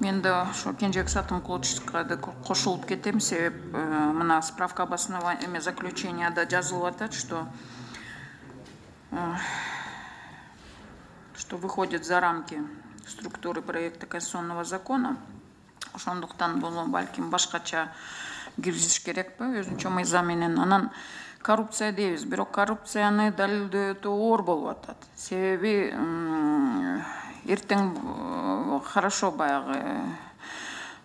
Мен да ошо Кенжебек Сатымкуловичка кошулуп кетем, себеп мына справка об основании заключенияда жазылып атат, что выходит за рамки структуры проекта конституционного закона. Ошондуктан бул балким башкача киргизиш керекпи, өзүнчө мыйзам менен. Анан коррупция дейбиз, бирок коррупцияны далилдөө өтө оор болуп атат. Себеби эртең хорошо баягы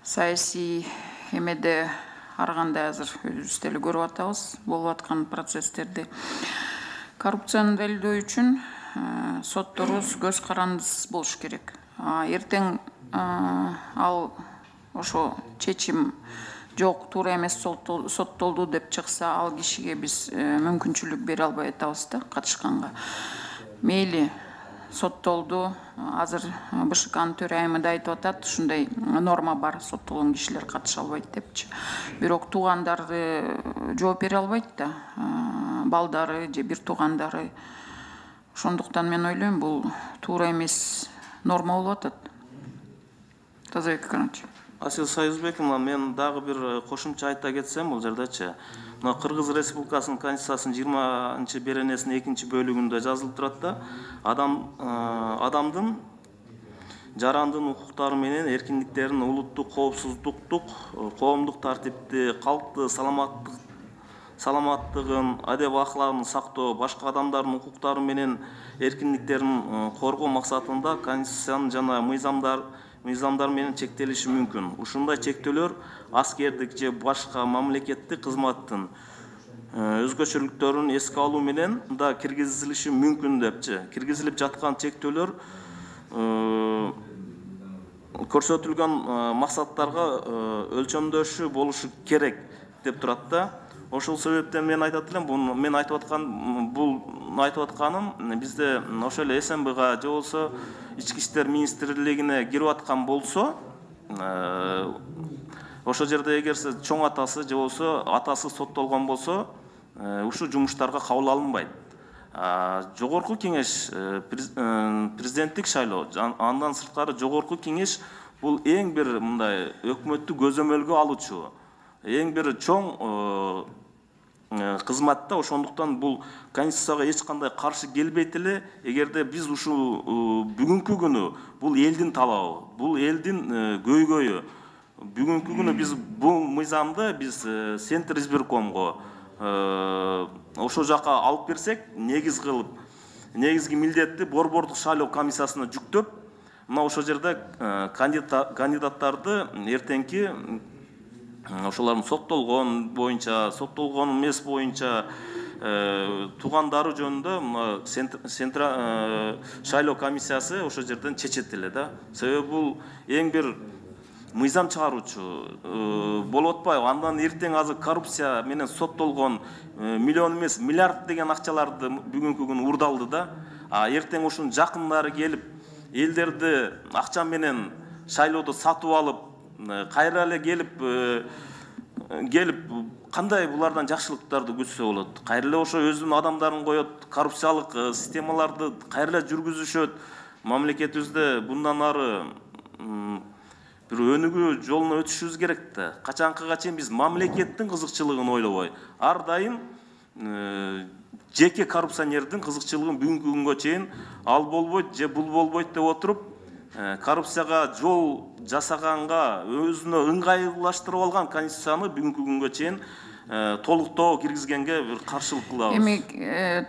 саясий эмеде ар кандай азыр өзүбүз деле көрүп атабыз болуп аткан процесстерди. Коррупцияны далилдөө үчүн сотторубуз көз карандысыз болуш керек. Эртең ал ошо чечим жок, туура эмес соттолду деп чыкса, ал кишиге биз мүмкүнчүлүк бере албай атабыз да катышканга. Мейли соттолду, азыр БШКнын төрайымы да айтып атат, ушундай норма бар, соттолгон кишилер катыша албайт депчи. Бирок туугандары жооп бере албайт да, балдары же бир туугандары. Ошондуктан мен ойлойм, бул туура эмес норма болуп атат. Тазабек Акрамович. Асил Союзбековна, мен дагы бир кошумча айта кетсем, бул жердечи. Мына Кыргыз Республикасынын Конституциясынын 20 беренесинин 2 бөлүгүндө жазылып турат да, адамдын жарандын укуктары менен эркиндиктерин улуттук коопсуздуктук, коомдук тартипти, калкты саламаттыгын, адеп аклагын сактоо, башка адамдардын укуктары менен эркиндиктерин коргоо максатында Конституциянын жана мыйзамдар менен чектелиши мүмкүн. Ушундай чектөөлөр аскердик же башка мамлекеттик кызматтын өзгөчөлүктөрүн эске алуу менен да киргизилиши мүмкүн депчи. Киргизилип жаткан чектөөлөр көрсөтүлгөн максаттарга өлчөмдөшү болушу керек деп турат да. Ошол себептен мен айтат элем, мен айтып атканым бизде ошол эле СМБга же болсо Ички иштер министрлигине кирип аткан болсо, ошол жерде эгерсе чоң атасы же болсо атасы соттолгон болсо, ушул жумуштарга кабыл алынбайт. Жогорку кеңеш президенттик шайлоо, андан сырткары жогорку кеңеш бул эң бир мындай өкмөттү көзөмөлгө алуучу, эң бир чоң кызматта. Ошондуктан бул Конституцияга эч кандай каршы келбейт эле. Эгерде биз ушул бүгүнкү күнү бул элдин талабы, бул элдин көйгөйү. Бүгүнкү күнү биз бул мыйзамды биз Центр избиркомго ошол жака алып берсек, негизги милдетти борбордук шайлоо комиссиясына жүктөп, мына ошол жерде кандидаттарды эртеңки ошолордун соттолгон боюнча, соттолгон эмес боюнча туугандары жөнүндө шайлоо комиссиясы ошол жерден чечет эле да. Себеби бул эң бир мыйзам чыгаруучу болуп атпайбы? Андан эртең азыр коррупция менен соттолгон миллион эмес миллиард деген акчаларды бүгүнкү күнү урдалды да. Эртең ушунун жакындары келип, элдерди акча менен шайлоодо сатып алып, кайра эле келип кандай булардан жакшылыктарды күтсө болот? Кайра эле ошо өзүнүн адамдарын коет, коррупциялык системаларды кайра эле жүргүзүшөт. Мамлекетибизде bundan ары бир өнүгүү жолуна өтүшүбүз керек да. Качанкыга чейин биз мамлекеттин кызыкчылыгын ойлобой, ар дайым жеке коррупционердин кызыкчылыгын бүгүнкү күнгө чейин ал болбойт же бул болбойт деп отуруп, коррупцияга жол жасаганга өзүнө ыңгайлаштырып алган Конституцияны бүгүнкү күнгө чейин толуктоо киргизгенге бир каршылык кылабыз. Эми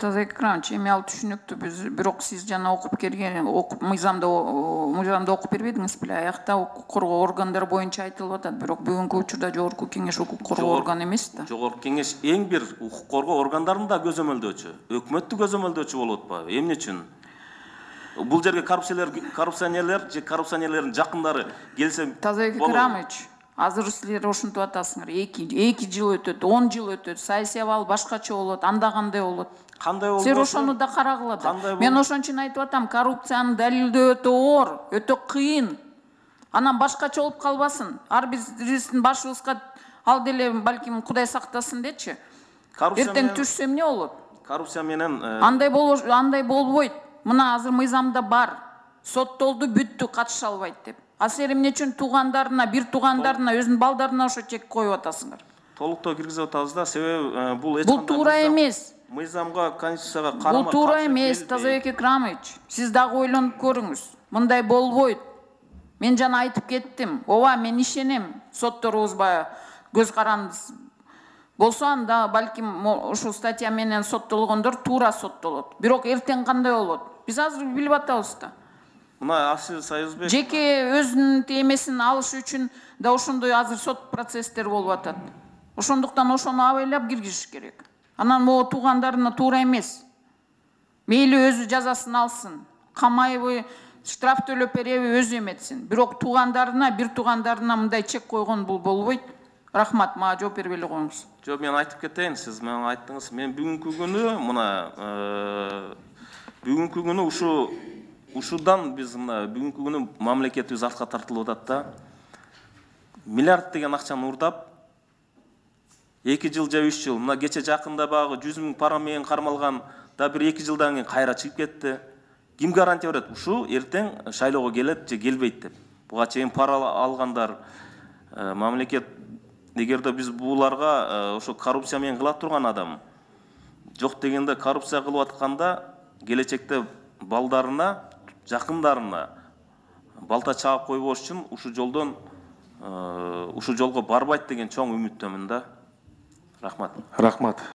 Тазабек Акрамович, эми ал түшүнүктүү, бирок сиз жана окуп келген, мыйзамда окуп бербедиңиз беле? Аякта укук коргоо органдары боюнча айтылып атат, бирок бүгүнкү учурда жогорку кеңеш укук коргоо органы эмес да. Жогорку кеңеш эң бир укук коргоо органдарын да көзөмөлдөөчү, өкмөттү көзөмөлдөөчү болуп атпайбы? Эмне үчүн? Бул жерге коррупционерлер же коррупционерлердин жакындары келсе болот. Тазабек Акрамович, азыр силер ошентип атасыңар, 2 жыл өтөт, 10 жыл өтөт, саясий абал башкача болот, анда кандай болот? Кандай болот? Силер ошону да карагыла да. Мен ошон үчүн айтып атам, коррупцияны далилдөө өтө оор, өтө кыйын. Анан башкача болуп калбасын. Ар биздин башыбызга ал деле балким Кудай сактасын дечи. Эртең түшсө эмне болот? Коррупция менен андай болбойт. Мына азыр мыйзамда бар. Соттолду, бүттү, катыша албайт деп. А сен эмне үчүн туугандарына, бир туугандарына, өзүнүн балдарына ошо чек коюп атасыңар? Толуктоо киргизип атабыз да, себеби бул эч Бул туура эмес. Мыйзамга, конституцияга карама Бул туура эмес, Тазабек Экрамович. Сиз дагы ойлонуп көрүңүз. Мындай болбойт. Мен жана айтып кеттим. Ооба, мен ишенем. Сотторубуз баягы көз карандысыз болсо, анда балким ушул статья менен соттолгондор туура соттолот. Бирок эртең кандай болот? Биз азыр билип атабыз да. Мына Асил Союзбек Жеке өзүнүн темесин алыш үчүн да ошондой азыр сот процесстер болуп атат. Ошондуктан ошону абайлап киргизиш керек. Анан могу туугандарына туура эмес. Мейли өзү жазасын алсын. Камайбы, штраф төлөп береби өзү эметсин. Бирок туугандарына, бир туугандарына мындай чек койгон бул болбойт. Рахмат, мага жооп бербей эле коюңуз. Жок, мен айтып кетейин, сиз менен айттыңыз. Мен бүгүнкү күнү мына бүгүнкү күнү ушудан биз мына бүгүнкү күнү мамлекетибиз артка тартылып атат да. Миллиард деген акчаны урдап 2 жыл же 3 жыл, мына кече жакында багы 100 000 пара менен кармалган да бир 2 жылдан кийин кайра чыгып кетти. Ким гарантия берет? Ушу эртең шайлоого келет же келбейт деп. Буга чейин пара алгандар мамлекет, эгерде биз буларга ошо коррупция менен кыла турган адам жок дегенде коррупция кылып атканда келечекте балдарына, жакындарына балта чаап койбош үчүн ушул жолго барбайт деген чоң үмүттөмүн да. Рахмат. Рахмат.